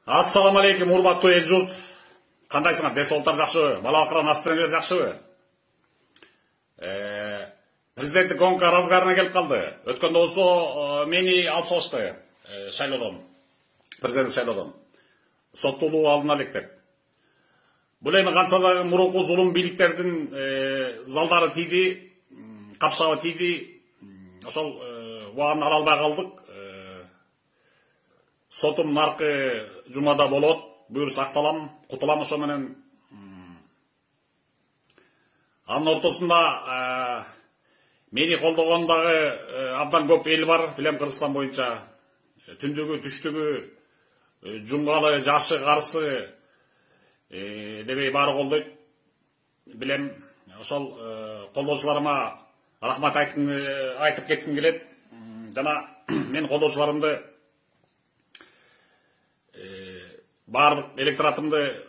Ассаламу алейкум, урматтуу эл журт. Кандайсыңар? Ден соолуктар жакшыбы? Бала акыран аспираңар жакшыбы? Президенттик гонка разгарына келип калды. Өткөндө болсо мени алып салышты шайлоодон. Президент шайлоодон. Соттолуу алдына элек деп. Бул эми канча да мурунку зулум бийликтердин залдары тийди, капшагы тийди. Ошол убагын ала албай калдык. Сотум наркы жумада болот. Буюрса акталам, кутулам ошо менен. Анын ортосунда мени колдогон дагы абдан көп эл бар, билем Кыргызстан боюнча. Түндүгү, түштүгү, жунгалы, жашы, карысы дебей баары колдойт. Билем, ошол колдоочуларыма рахмат айтып кетким келет. Жана мен колдоочуларымды баардык электоратымды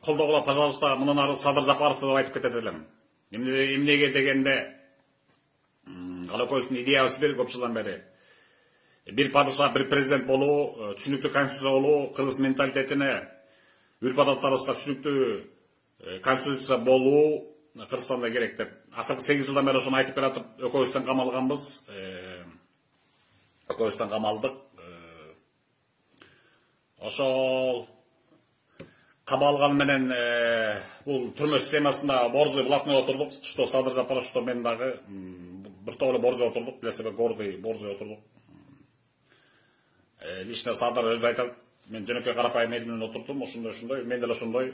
колдогула, пожалуйста, мындан ары Садыр Жапаровду деп айтып кетет элем. Эмнеге дегенде, ал экөөбүздүн идеябыз бир көп жылдан бери. Бир падыша, бир президент болуу, түшүнүктүү конституция болуу, кыргыз менталитетине, үрп адаттарыбызга түшүнүктүү конституция болуу Кыргызстанда керек деп. Акыркы 8 жылдан бери ошону айтып келатып, экөөбүздөн камалганбыз. Экөөбүздөн камалдык. Ошол кабалган менен бул түрмө системасында борзой блатной отурдук. Что Садыр Жапаров, что мен дагы бир топ эле борзой отурдук, для себя гордый борзой отурдук. Лично Садыр өзү айтат, мен жөнөкөй карапайым эл менен отурдум, ошондой, мен деле ошондой.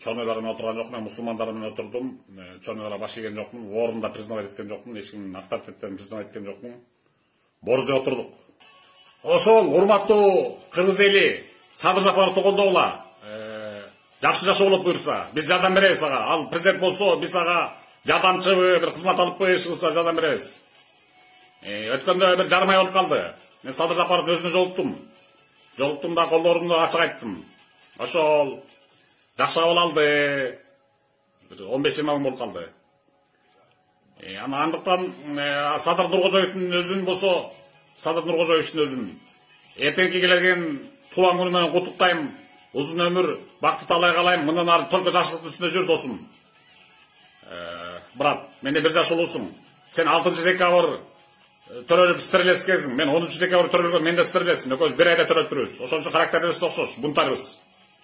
Чорнойлар менен отурган жокмун, мусулмандар менен отурдум. Чорнойларга баш ийген жокмун, орунда признавать эткен жокмун, эч кимдин авторитетин признавать эткен жокмун. Борзой отурдук. Ошол урматтуу кыргыз эли Садыр Жапаровду колдогула. Жакшы жашоо болот буюрса, биз жардам беребиз ага. Ал президент болсо, биз ага жардамчыбы, бир кызмат алыппы, ишкылса жардам беребиз. Өткөндө бир жарым ай болуп калды. Мен Садыр Жапаровду өзүнө жолуктум. Жолуктум да колдоорумду ачык айттым. Ошол жакшы абал алды. 15-20 мың болуп калды. Андыктан Садыр Нуркожоевдун өзүн болсо, Садыр Нуркожоевдун өзүн эртеңки келген туулган күнү менен куттуктайм. Узун өмүр, бакыт талай калайм. Мындан ары только жакшылыктын үстүндө жүр, досум. Брат, менде бир жаш улуусуң. Сен 6 декабрь төрөлүп стерлескесиң. Мен 10 декабрь төрөлгөм, мен да стерлесим. Экөөбүз бир айда төрөлүп турбуз. Ошон үчүн характерибиз окшош, бунтарбыз.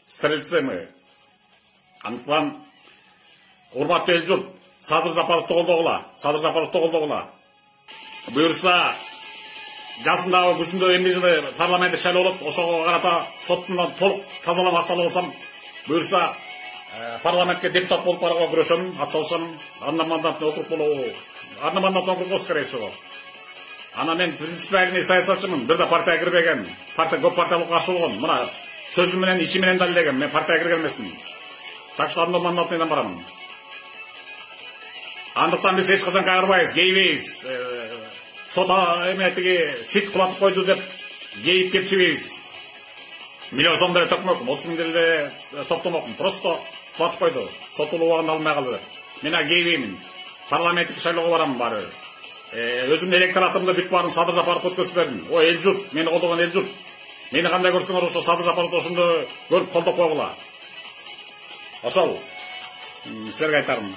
Стрельцы мы. Андыктан урматтуу эл журт, Садыр Жапаровду колдогула. Садыр Жапаровду колдогула. Буюрса жазындагы күзүндө эмне жылы парламенттик шайлоо болот, ошого карата соттун толук тазалап акталып алсам, буюрса парламентке депутат болуп барууга күрөшөм, атсалышам. Одномандатный округ болобу? Одномандатный округ болсо скорее всего. Ана мен принципиальный саясатчымын, бир да партияга кирбеген, партия көп партиялыкка каршы болгон. Мына сөзүм менен, иши менен далилдегем, мен партияга кирген эмесмин. Так что одномандатныйдан барам. Андыктан биз эч качан кайрылбайбыз, кейбейбиз. Сота эметиги сит кулатып койду деп кейип кепчибейбиз. Миллион сом деле төкмөкмүн, осун деле топтомокмун. Просто кулатып койду. Сотулуу убагын албай калды. Мен кейбеймин. Парламенттик шайлоого барам баары. Өзүмдүн электоратымды бүт баарын Садыр Жапаровго өткөзүп бердим. О эл журт, мени колдогон эл журт. Мени кандай көрсөңөр ошо Садыр Жапаровду ошондо көрүп колдоп койгула. Ошол силерге айтарым.